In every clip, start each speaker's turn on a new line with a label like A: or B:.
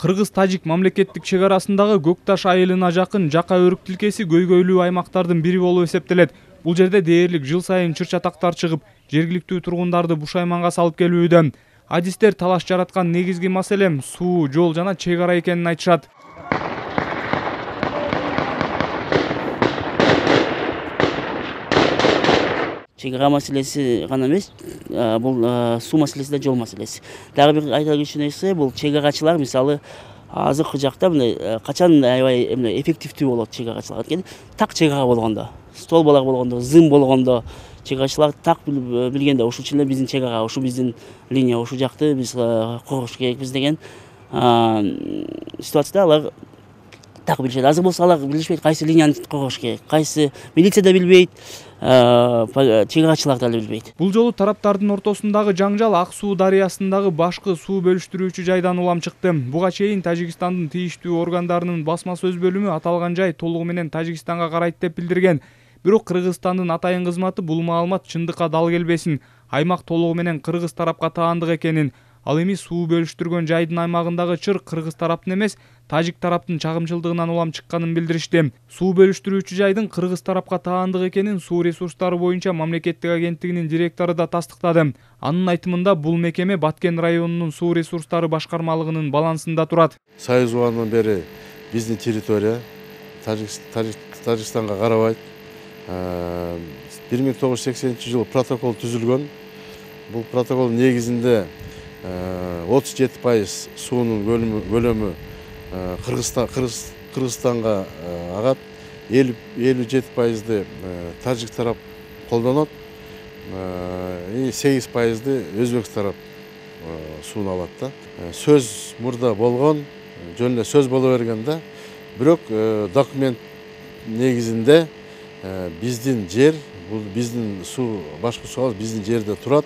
A: Кыргыз-тажик мамлекеттик чек арасындагы Көк Таш айылына жакын Жака өрүк тилкеси көйгөйлүү аймактардын бири болуп эсептелет. Бул жерде дээрлик жыл сайын чыр-чатактар чыгып, жергиликтүү тургундарды бушайманга салып келүүдө. Адистер талаш жараткан негизги маселе суу, жол жана чек ара экенин айтышат.
B: Чек ара маселеси гана эмес, бул суу маселеси да жол маселеси. Дагы бир айта кетчү нерсе, бул чек арачылар мисалы азыркы жакта мындай качан аябай эффективдүү болот чек арачылар экен. Так чек ара болгондо, столбалар болгондо, зым болгондо чек арачылар так билгенде ушул эле биздин чек ара, ушу биздин линия, ушул жакты биз коргош керекпиз деген ситуацияда алар так билишет. Азыр болсо алар билишпейт кайсы линияны коргош керек, кайсы милиция да билбейт, чек арачылар да билбейт.
A: Бул жолу тараптардын ортосундагы жаңжал Ак суу дарыясындагы башкы суу бөлүштүрүүчү жайдан улам чыкты. Буга чейин Тажикстандын тийиштүү органдарынын басма сөз бөлүмү аталган жай толугу менен Тажикстанга карайт деп билдирген. Бирок Кыргызстандын атайын кызматы бул маалымат чындыкка дал келбесин, аймак толугу менен кыргыз тарапка таандык экенин, ал эми суу бөлүштүргөн жайдын аймагындагы чыр кыргыз тараптын эмес, тажик тараптын чагымчылдыгынан улам чыкканын билдиришти. Суу бөлүштүрүүчү жайдын кыргыз тарапка таандык экенин Суу ресурстары боюнча мамлекеттик агенттигинин директору да тастыктады. Анын айтымында бул мекеме Баткен районунун суу ресурстары башкармалыгынын балансында турат.
C: Союз убагынан бери биздин территория Тажикстанга карабайт. 1980-жылы протокол түзүлгөн. Бул протокол негизинде 37% суунун көлөмү Кыргызстанга агат, 57%ды тажик тарап колдонот, 8%ды өзбек тарап сууну алат да. Сөз мурда болгон, жөн эле сөз боло берген да. Бирок документ негизинде биздин жер, бул биздин суу, башкы суу биздин жерде турат.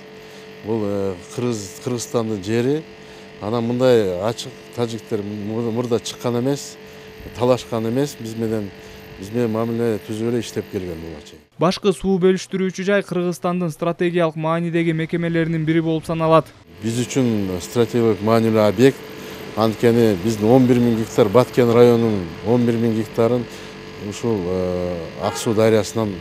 C: Бул Кыргызстандын жери. Анан мындай ачык тажиктер мурда чыккан эмес, талашкан эмес, биз менен мамиле түзүп эле иштеп келген булачы.
A: Башкы суу бөлүштүрүүчү жай Кыргызстандын стратегиялык маанидеги мекемелеринин бири болуп саналат.
C: Биз үчүн стратегиялык маанилүү объект. Анткени биздин 11.000 гектар, Баткен районунун 11.000 гектарын ушул Ак суу дарыясынан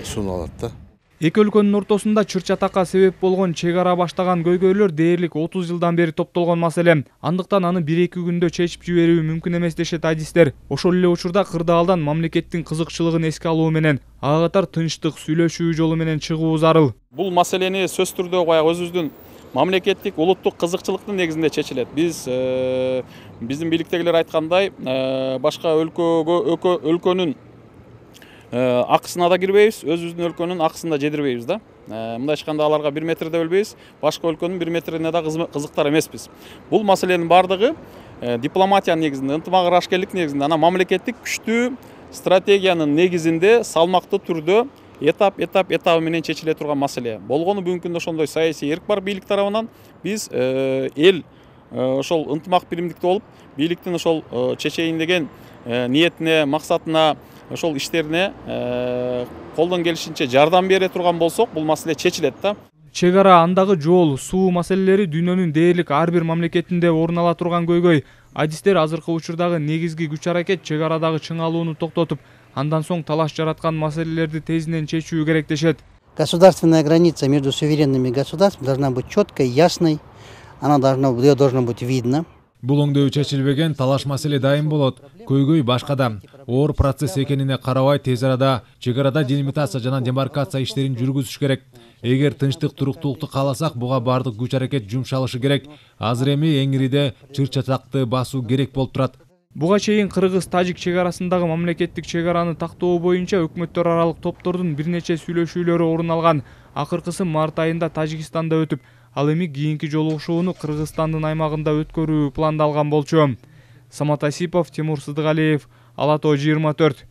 C: сууну алат да.
A: Эки өлкөнүн ортосунда чыр-чатакка себеп болгон чек ара баштаган көйгөйлөр дээрлик 30 жылдан бери топтолгон маселе. Андыктан аны 1-2 күндө чечип жиберүү мүмкүн эмес дешет адистер. Ошол эле учурда кырдаалдан мамлекеттин кызыкчылыгын эске алуу менен ага катар тынчтык сүйлөшүү жолу менен чыгуу зарыл.
D: Бул маселени сөз түрдө баягы өзүбүздүн мамлекеттик улуттук кызыкчылыктын негизинде чечилет. Биздин бийликтегилер айткандай, башка өлкөнүн акысына да кирбейбиз, өзүбүздүн өлкөнүн акысын да жедирбейбиз да. Мындай ачканда аларга 1 метрде өлбөйбүз, башка өлкөнүн 1 метрине да кызыктар эмеспиз. Бул маселенин бардыгы дипломатиянын негизинде, ынтымак ырашкерлик негизинде, анан мамлекеттик күчтүү стратегиянын негизинде салмактуу түрдө этап менен чечиле турган маселе. Болгону бүгүнкү күндө ошондой саясий эрк бар бийлик тарабынан. Биз эл ошол ынтымак биримдикте болуп, бийликтин ошол чечейин деген ниетине, максатына, ошол иштерине колдон келишинче жардам бере турган болсок, бул маселе чечилет да.
A: Чек ара, андагы жол, суу маселелери дүйнөнүн дээрлик ар бир мамлекетинде орун ала турган көйгөй. Адистер азыркы учурдагы негизги күч-аракет чек арадагы чыңалууну токтотуп, андан соң талаш жараткан маселелерди тезинен чечүү керек дешет.
E: Государственная граница между суверенными государствами должна быть четкой, ясной, ее должно быть видно.
F: Бул оңдоо чечилбеген талаш маселе дайым болот. Көйгөй башкада. Оор процесс экенине карабай тез арада чек арада делимитация жана демаркация иштерин жүргүзүш керек. Эгер тынчтык, туруктуулукту кааласак, буга бардык күч-аракет жумшалышы керек. Азыр эми эңириде чыр-чатакты басуу керек болуп турат.
A: Буга чейин Кыргыз-Тажик чек арасындагы мамлекеттик чек араны тактоо боюнча өкмөттөр аралык топтордун бир нече сүйлөшүүлөрү орун алган. Акыркысы март айында Тажикстанда өтүп, ал эми кийинки жолугушууну Кыргызстандын аймагында өткөрүү пландалган болчу. Самат Асипов, Тимур Сыдыгалиев, Ала Тоо 24.